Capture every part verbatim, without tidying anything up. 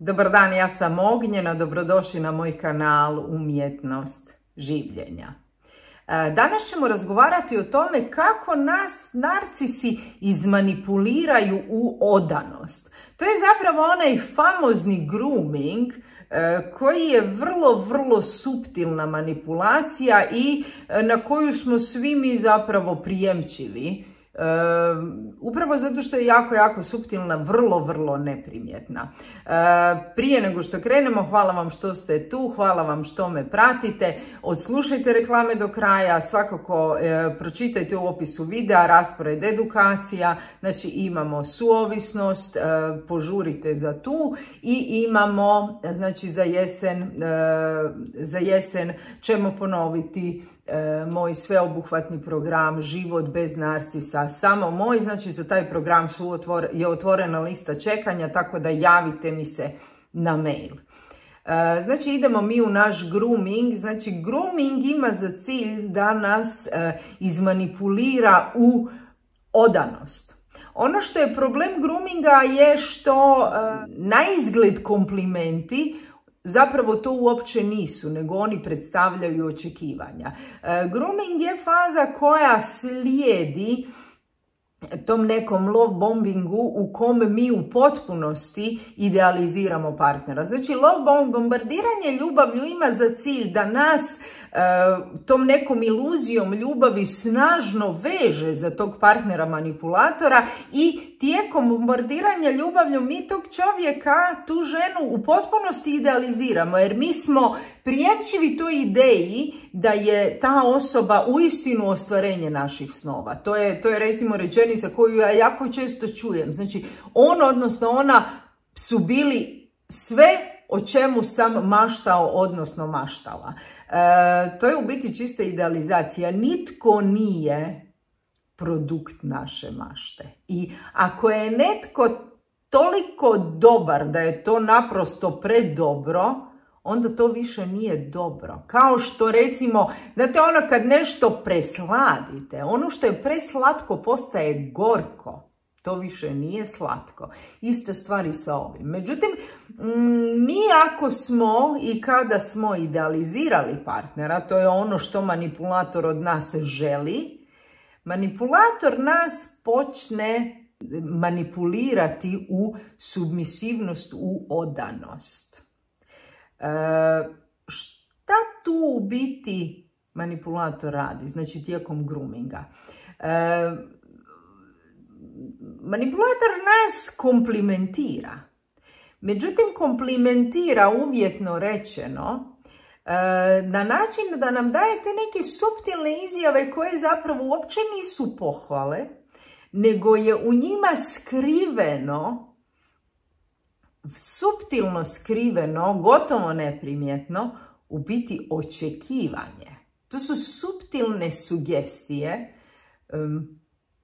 Dobar dan, ja sam Ognjena, dobrodošli na moj kanal Umjetnost življenja. Danas ćemo razgovarati o tome kako nas narcisi izmanipuliraju u odanost. To je zapravo onaj famozni grooming koji je vrlo, vrlo suptilna manipulacija i na koju smo svi mi zapravo prijemčivi. Uh, upravo zato što je jako, jako suptilna, vrlo, vrlo neprimjetna. Uh, prije nego što krenemo, hvala vam što ste tu, hvala vam što me pratite, odslušajte reklame do kraja, svakako uh, pročitajte u opisu videa raspored edukacija, znači imamo suovisnost, uh, požurite za tu i imamo, znači za jesen, uh, za jesen ćemo ponoviti moj sveobuhvatni program Život bez narcisa, samo moj, znači za taj program su otvor, je otvorena lista čekanja, tako da javite mi se na mail. Znači idemo mi u naš grooming, znači grooming ima za cilj da nas izmanipulira u odanost. Ono što je problem groominga je što na izgled komplimenti zapravo to uopće nisu, nego oni predstavljaju očekivanja. Grooming je faza koja slijedi tom nekom love bombingu u kom mi u potpunosti idealiziramo partnera. Znači, love bombardiranje ljubavlju ima za cilj da nas tom nekom iluzijom ljubavi snažno veže za tog partnera manipulatora i tijekom bombardiranja ljubavlju mi tog čovjeka, tu ženu u potpunosti idealiziramo jer mi smo prijemčivi toj ideji da je ta osoba uistinu ostvarenje naših snova. To je, to je recimo rečenica koju ja jako često čujem. Znači on odnosno ona su bili sve o čemu sam maštao, odnosno maštala. E, to je u biti čista idealizacija. Nitko nije produkt naše mašte. I ako je netko toliko dobar da je to naprosto predobro, onda to više nije dobro. Kao što recimo, znate ono kad nešto presladite, ono što je preslatko postaje gorko. To više nije slatko. Iste stvari sa ovim. Međutim, mi ako smo i kada smo idealizirali partnera, to je ono što manipulator od nas želi, manipulator nas počne manipulirati u submisivnost, u odanost. E, šta tu u biti manipulator radi? Znači tijekom groominga. E, Manipulator nas komplimentira. Međutim, komplimentira uvjetno rečeno na način da nam dajete neke suptilne izjave koje zapravo uopće nisu pohvale, nego je u njima skriveno, suptilno skriveno, gotovo neprimjetno, u biti očekivanje. To su suptilne sugestije um,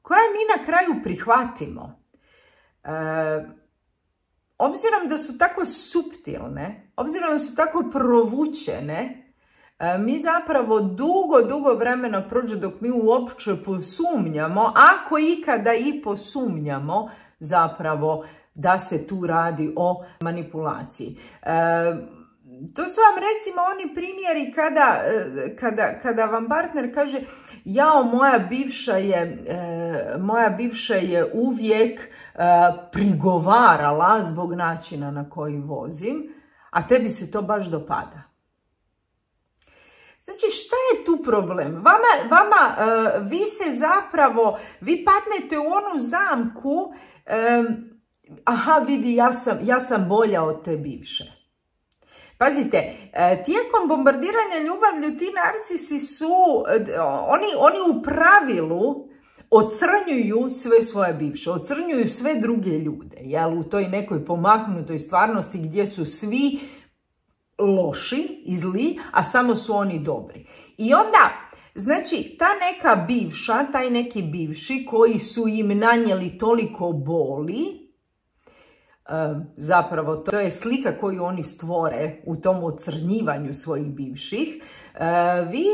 koje mi na kraju prihvatimo. E, obzirom da su tako suptilne, obzirom da su tako provučene, e, mi zapravo dugo, dugo vremena prođe dok mi uopće posumnjamo, ako ikada i posumnjamo zapravo da se tu radi o manipulaciji. E, To su vam recimo oni primjeri kada, kada, kada vam partner kaže jao, moja bivša je, e, moja bivša je uvijek e, prigovarala zbog načina na koji vozim, a tebi se to baš dopada. Znači, šta je tu problem? Vama, vama e, vi se zapravo, vi padnete u onu zamku, e, aha, vidi, ja sam, ja sam bolja od te bivše. Pazite, tijekom bombardiranja ljubavlju ti narcisi su, oni, oni u pravilu ocrnjuju sve svoje bivše, ocrnjuju sve druge ljude, jel, u toj nekoj pomaknutoj stvarnosti gdje su svi loši i zli, a samo su oni dobri. I onda, znači, ta neka bivša, taj neki bivši koji su im nanijeli toliko boli, zapravo to je slika koju oni stvore u tom ocrnjivanju svojih bivših, vi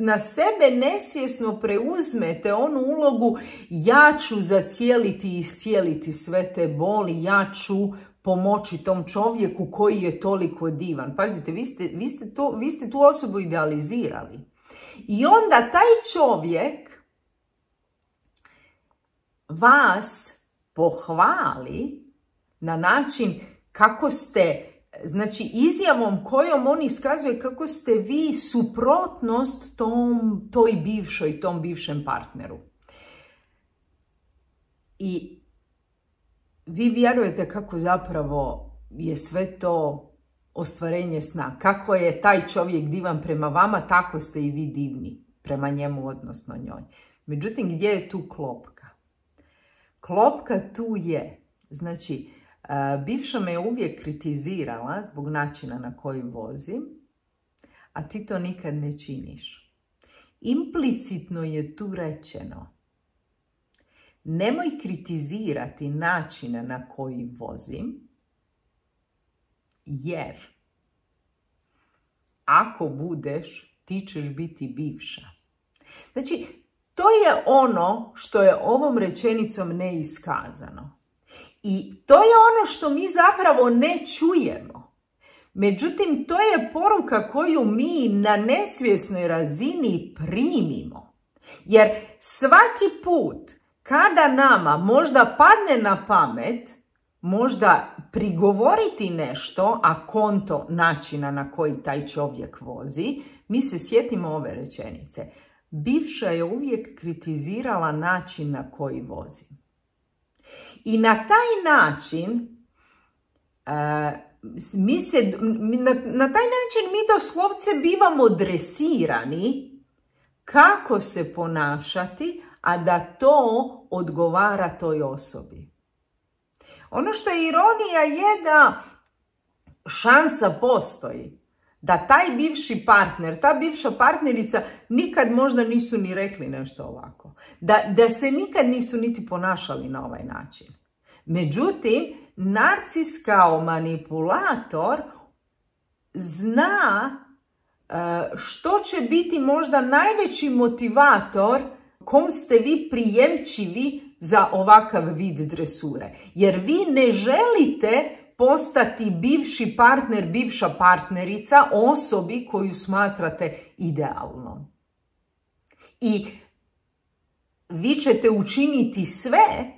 na sebe nesvjesno preuzmete onu ulogu ja ću zacijeliti i iscijeliti sve te boli, ja ću pomoći tom čovjeku koji je toliko divan. Pazite, vi ste, vi ste, to, vi ste tu osobu idealizirali. I onda taj čovjek vas pohvali na način kako ste, znači izjavom kojom on iskazuje kako ste vi suprotnost tom, toj bivšoj, tom bivšem partneru. I vi vjerujete kako zapravo je sve to ostvarenje sna. Kako je taj čovjek divan prema vama, tako ste i vi divni prema njemu, odnosno njoj. Međutim, gdje je tu klopka? Klopka tu je, znači, bivša me je uvijek kritizirala zbog načina na koji vozim, a ti to nikad ne činiš. Implicitno je tu rečeno, nemoj kritizirati načina na koji vozim, jer ako budeš, ti ćeš biti bivša. Znači, to je ono što je ovom rečenicom neiskazano. I to je ono što mi zapravo ne čujemo. Međutim, to je poruka koju mi na nesvjesnoj razini primimo. Jer svaki put kada nama možda padne na pamet, možda prigovoriti nešto, a konto načina na koji taj čovjek vozi, mi se sjetimo ove rečenice. Bivša je uvijek kritizirala način na koji vozim. I na taj način, uh, mi se, na, na taj način mi doslovce bivamo dresirani kako se ponašati, a da to odgovara toj osobi. Ono što je ironija je da šansa postoji da taj bivši partner, ta bivša partnerica nikad možda nisu ni rekli nešto ovako. Da, da se nikad nisu niti ponašali na ovaj način. Međutim, narcis kao manipulator zna što će biti možda najveći motivator kom ste vi prijemčivi za ovakav vid dresure. Jer vi ne želite postati bivši partner, bivša partnerica osobi koju smatrate idealnom. I vi ćete učiniti sve,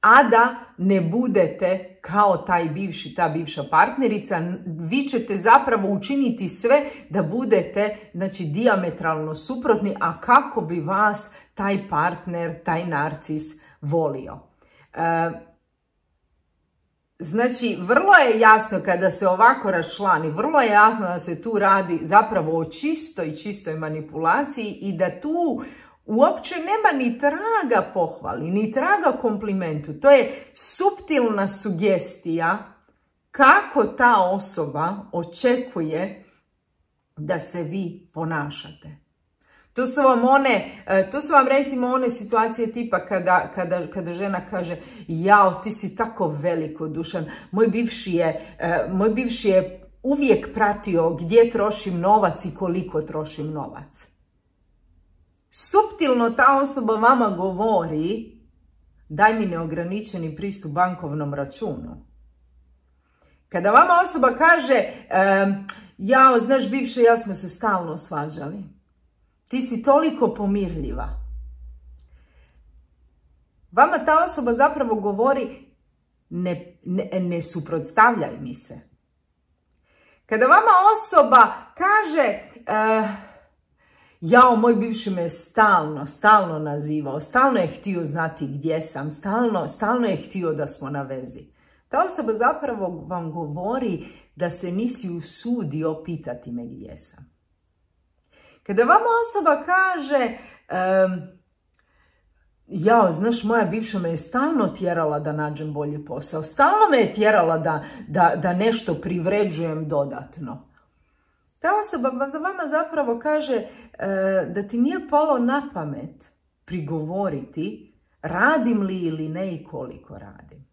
a da ne budete kao taj bivši, ta bivša partnerica. Vi ćete zapravo učiniti sve da budete, znači, dijametralno suprotni, a kako bi vas taj partner, taj narcis volio. E, Znači, vrlo je jasno kada se ovako raščlani, vrlo je jasno da se tu radi zapravo o čistoj, čistoj manipulaciji i da tu uopće nema ni traga pohvali, ni traga komplimentu. To je suptilna sugestija kako ta osoba očekuje da se vi ponašate. To su vam one, to su vam recimo one situacije tipa kada, kada, kada žena kaže jao, ti si tako velikodušan, moj bivši je, moj bivši je uvijek pratio gdje trošim novac i koliko trošim novac. Suptilno ta osoba vama govori daj mi neograničeni pristup bankovnom računu. Kada vama osoba kaže jao, znaš bivše, ja smo se stalno svađali. Ti si toliko pomirljiva. Vama ta osoba zapravo govori ne, ne, ne suprotstavljaj mi se. Kada vama osoba kaže uh, jao, moj bivši me stalno, stalno nazivao, stalno je htio znati gdje sam, stalno, stalno je htio da smo na vezi. Ta osoba zapravo vam govori da se nisi usudio pitati me gdje sam. Kada vama osoba kaže um, jao, znaš, moja bivša me je stalno tjerala da nađem bolji posao, stalno me je tjerala da, da, da nešto privređujem dodatno. Ta osoba za vama zapravo kaže uh, da ti nije palo na pamet prigovoriti radim li ili ne i koliko radim.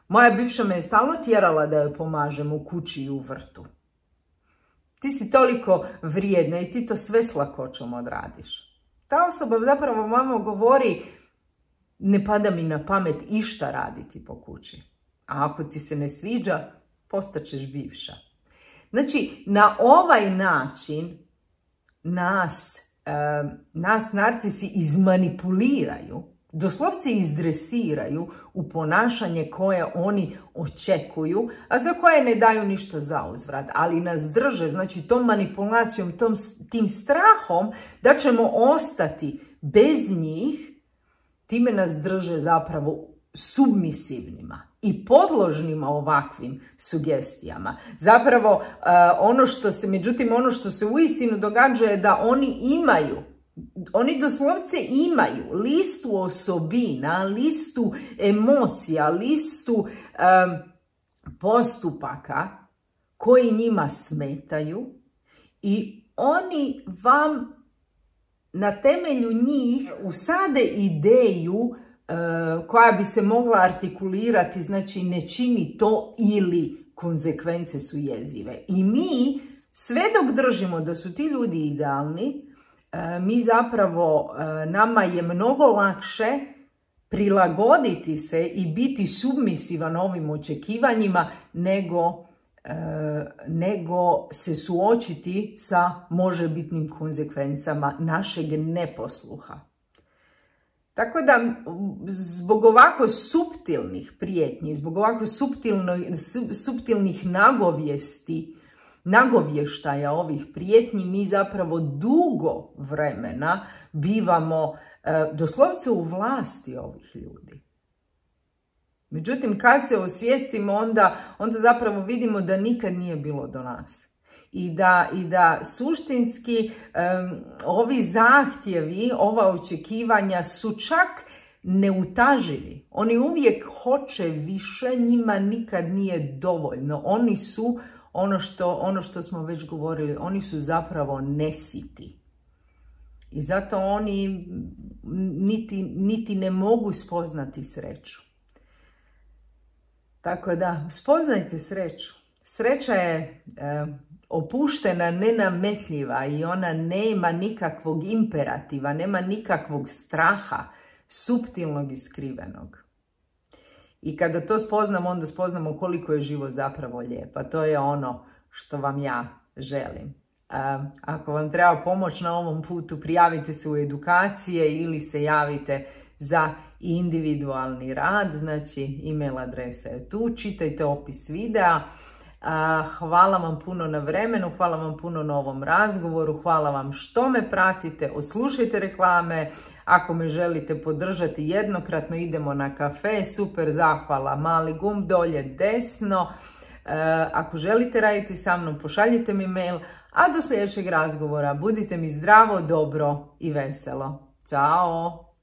Moja bivša me je stalno tjerala da joj pomažem u kući i u vrtu. Ti si toliko vrijedna i ti to sve s lakoćom odradiš. Ta osoba zapravo vama govori ne pada mi na pamet išta raditi po kući. A ako ti se ne sviđa, postaćeš bivša. Znači, na ovaj način nas, eh, nas narcisi izmanipuliraju, doslovce izdresiraju u ponašanje koje oni očekuju, a za koje ne daju ništa za uzvrat, ali nas drže, znači tom manipulacijom, tom, tim strahom da ćemo ostati bez njih, time nas drže zapravo submisivnima i podložnima ovakvim sugestijama. Zapravo, uh, ono što se, međutim, ono što se uistinu događa je da oni imaju, oni doslovce imaju listu osobina, listu emocija, listu um, postupaka koji njima smetaju i oni vam na temelju njih usade ideju uh, koja bi se mogla artikulirati, znači ne čini to ili konzekvence su jezive. I mi, sve dok držimo da su ti ljudi idealni, mi zapravo, nama je mnogo lakše prilagoditi se i biti submisivan ovim očekivanjima nego, nego se suočiti sa možebitnim konzekvencama našeg neposluha. Tako da, zbog ovako suptilnih prijetnji, zbog ovako suptilnih nagovijesti, nagovještaja ovih prijetnji, mi zapravo dugo vremena bivamo e, doslovce u vlasti ovih ljudi. Međutim, kad se osvijestimo, onda, onda zapravo vidimo da nikad nije bilo do nas. I da, i da suštinski um, ovi zahtjevi, ova očekivanja su čak neutaživi. Oni uvijek hoće više, njima nikad nije dovoljno. Oni su Ono što, ono što smo već govorili, oni su zapravo nesiti. I zato oni niti, niti ne mogu spoznati sreću. Tako da, spoznajte sreću. Sreća je e, opuštena, nenametljiva i ona nema nikakvog imperativa, nema nikakvog straha, suptilnog i skrivenog. I kada to spoznamo, onda spoznamo koliko je život zapravo lijep. A to je ono što vam ja želim. A, ako vam treba pomoć na ovom putu, prijavite se u edukacije ili se javite za individualni rad. Znači, e-mail adresa je tu. Čitajte opis videa. A, hvala vam puno na vremenu, hvala vam puno na ovom razgovoru, hvala vam što me pratite, oslušajte reklame. Ako me želite podržati jednokratno, idemo na kafe, super, zahvala, mali gumb dolje desno. E, ako želite raditi sa mnom, pošaljite mi mail, a do sljedećeg razgovora budite mi zdravo, dobro i veselo. Ćao!